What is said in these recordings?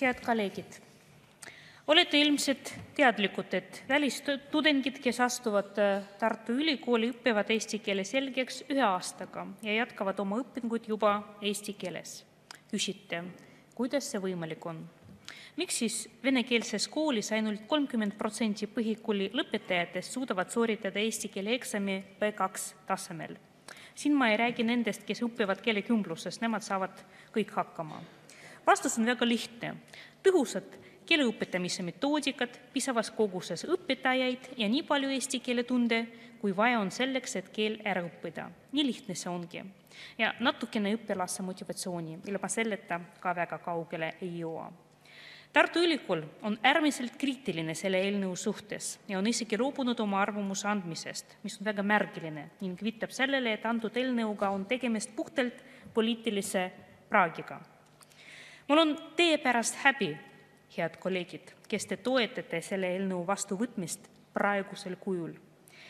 Head kolleegid! Olete ilmselt teadlikud, et välistudengid, kes astuvad Tartu Ülikooli, õpivad eesti keele selgeks 1 aastaga ja jätkavad oma õpinguid juba eesti keeles. Küsite, kuidas see võimalik on? Miks siis venekeelses koolis ainult 30% põhikooli lõpetajatest suudavad sooritada eesti keele eksami B2 tasemel? Siin ma ei räägi nendest, kes õpivad keelekümbluses, nemad saavad kõik hakkama. Vastus on väga lihtne. Tõhusad keele õpetamise metoodikad, piisavas koguses õpetajaid ja nii palju eesti keele tunde, kui vaja on selleks, et keel ära õppida. Nii lihtne see ongi. Ja natukene õpilase motivatsiooni, ilma selleta ka väga kaugele ei jõua. Tartu Ülikool on äärmiselt kriitiline selle eelnõu suhtes ja on isegi loobunud oma arvamuse andmisest, mis on väga märgiline ning viitab sellele, et antud eelnõuga on tegemist puhtalt poliitilise praagiga. Mul on teie pärast häbi, head kolleegid, kes te toetate selle eelnõu vastuvõtmist praegusel kujul.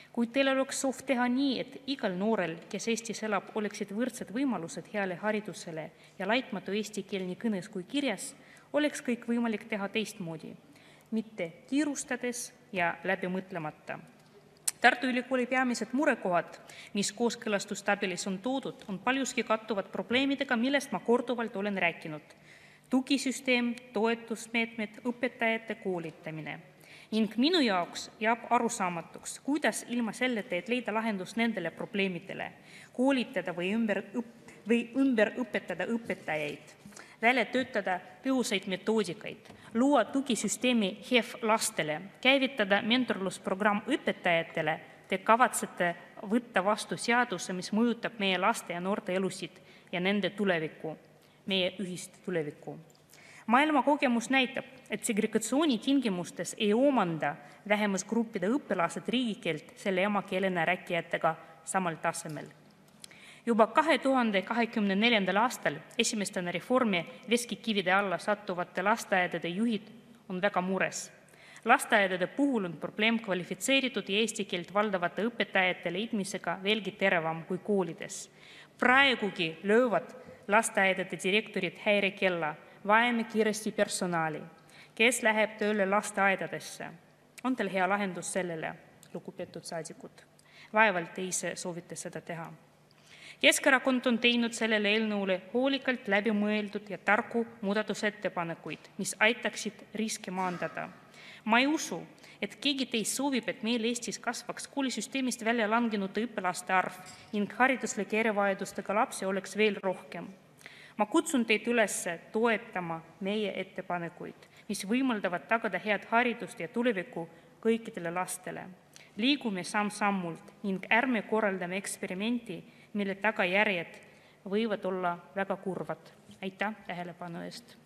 Kui teil oleks soov teha nii, et igal noorel, kes Eestis elab, oleksid võrdsed võimalused heale haridusele ja laitmatu eesti keel nii kõnes kui kirjas, oleks kõik võimalik teha teistmoodi, mitte kiirustades ja läbi mõtlemata. Tartu Ülikooli peamised murekohad, mis kooskõlastustabelis on toodud, on paljuski kattuvad probleemidega, millest ma korduvalt olen rääkinud. Tugisüsteem, toetusmeetmed, õpetajate koolitamine. Ning minu jaoks jääb arusaamatuks, kuidas ilma selleta, et leida lahendus nendele probleemidele, koolitada või ümber õpetada õpetajaid, välja töötada tõhusaid metoodikaid, luua tugisüsteemi HEV lastele, käivitada mentorlusprogramm õpetajatele, te kavatsete võtta vastu seaduse, mis mõjutab meie laste ja noorte elusid ja nende tulevikku, meie ühist tulevikku. Maailma kogemus näitab, et segregatsiooni tingimustes ei omanda vähemusgruppide õpilased riigikeelt selle emakeelena rääkijatega samal tasemel. Juba 2024. aastal esimestena reformi veskikivide alla sattuvate lasteaedade juhid on väga mures. Lasteaedade puhul on probleem kvalifitseeritud ja eesti keelt valdavate õpetajate leidmisega veelgi teravam kui koolides. Praegugi löövad lasteaedade direktorid häirekella, vajame kiiresti personali, kes läheb tööle lasteaedadesse. On teil hea lahendus sellele, lugupeetud saadikud? Vaevalt te ise soovite seda teha. Keskerakond on teinud sellele eelnõule hoolikalt läbimõeldud ja tarku muudatusettepanekuid, mis aitaksid riske maandada. Ma ei usu, et keegi teist soovib, et meil Eestis kasvaks koolisüsteemist välja langenute õpilaste arv ning hariduslike erivajadustega lapsi oleks veel rohkem. Ma kutsun teid üles toetama meie ettepanekuid, mis võimaldavad tagada head haridust ja tulevikku kõikidele lastele. Liigume samm-sammult ning ärme korraldame eksperimenti, mille tagajärjed võivad olla väga kurvad. Aitäh tähelepanu eest!